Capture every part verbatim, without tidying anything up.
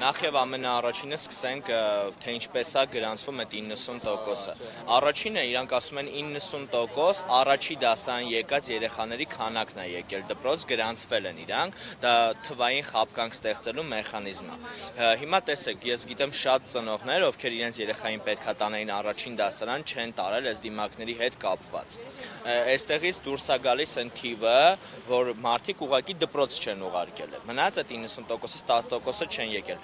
Նախ եւ ամենաառաջինը սկսենք թե ինչպես է գրանցվում այդ իննսուն տոկոսը։ Առաջինը իրանք ասում են իննսուն տոկոս առաջի դասարան եկած երեխաների քանակն է եկել դպրոց, գրանցվել են իրանք, դա թվային խաբկանք ստեղծելու մեխանիզմ է։ Հիմա տեսեք, ես գիտեմ շատ ծնողներ, ովքեր իրենց երեխային պետքա տանեին առաջին դասարան, չեն տարել այս դիմակների հետ կապված։ Այստեղից դուրս է գալիս այն թիվը, որ մարդիկ ուղղակի դպրոց չեն ուղարկել։ Մնաց այդ իննսուն տոկոսից տասը տոկոսը չեն եկել։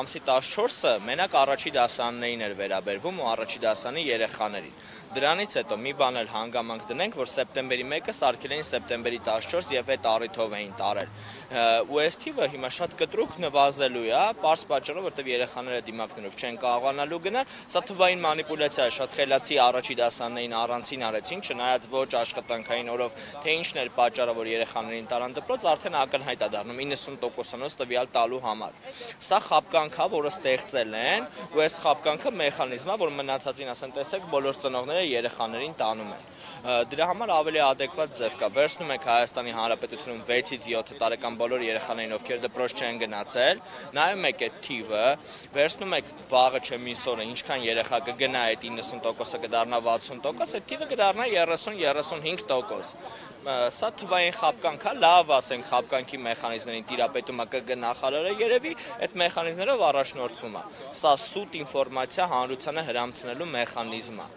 Ամսի տասնչորսը մենակ առաջի դասարաններին էր վերաբերվում ու առաջի դասարանի երեխաներին։ Դրանից հետո մի բան էլ հանգամանք դնենք, որ սեպտեմբերի մեկը սարքել էին սեպտեմբերի տասնչորս եւ այդ առիթով էին տարել։ Ու այս թիվը հիմա շատ կտրուկ նվազելու է, պարզ պատճառով, որտեղ երեխաները դիմակներով չեն կարողանալու գնալ, սա թվային մանիպուլյացիա է, շատ խելացի առաջի դասարաններին առանցին արեցին, չնայած ոչ աշխատանքային օրով, թե ինչն էր պատճառը, որ երեխաներին տարան դպրոց, արդեն ակնհայտ է դառնում իննսուն տոկոսանոց տվյալ տալու համար։ Սա խաբկանք է, որը ստեղծել են, ու այս խաբկանքը մեխանիզմ է, որ մնացածին ասեն, տեսեք, բոլոր ծնողները երեխաներին տանում են։ Դրա համար ավելի adekvat ձև կա։ Վերցնում եք Հայաստանի Հանրապետությունում վեցից յոթ տարեկան բոլոր երեխաներին, ովքեր դպրոց չեն գնացել, նայում եք այդ թիվը, վերցնում եք վաղը չէ մյուս օրը ինչքան երեխա կգնա այդ իննսուն տոկոսը կդառնա վաթսուն տոկոս, այդ թիվը կդառնա երեսուն երեսունհինգ տոկոս։ Սա թվային խաբկանք է, լավ ասենք խաբկանքի մեխանիզմներին տիրապետումը կգնախարարը երևի, այդ մեխանիզմներով առաջնորդվում է։ Սա սուտ ինֆորմացիա հանրությանը հրամցնելու մեխանիզմ է։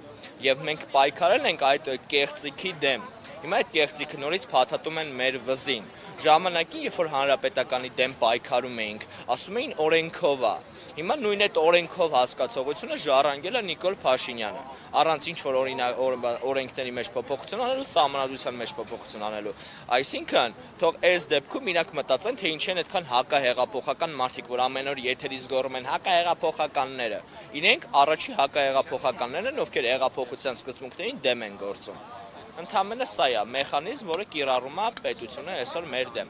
Եվ մենք պայքարել ենք այդ կեղծիքի դեմ։ Հիմա այդ կեղծիքը նորից փաթաթում են մեր վզին։ Ժամանակին, երբ որ հանրապետականի դեմ պայքարում էինք, ասում էին օրենքով է։ Հիմա նույն այդ օրենքով հասկացողությունը ժառանգել է Նիկոլ Փաշինյանը, առանց ինչ որ օրենքների մեջ փոփոխություն անելու, սահմանադրության մեջ փոփոխություն անելու։ Այսինքն, թող այս դեպքում իրանք մտածեն, թե ինչ են այդքան հակահեղափոխական մարդիկ, որ ամեն օր եթերից գոռում են հակահեղափոխականները։ Իրենք առաջի հակահեղափոխականներն են, ովքեր հեղափոխության սկզբունքներին դեմ են գործում։ Ընդհանրապես սա է մեխանիզմ, որը կիրառում է պետությունը այսօր մեր դեմ։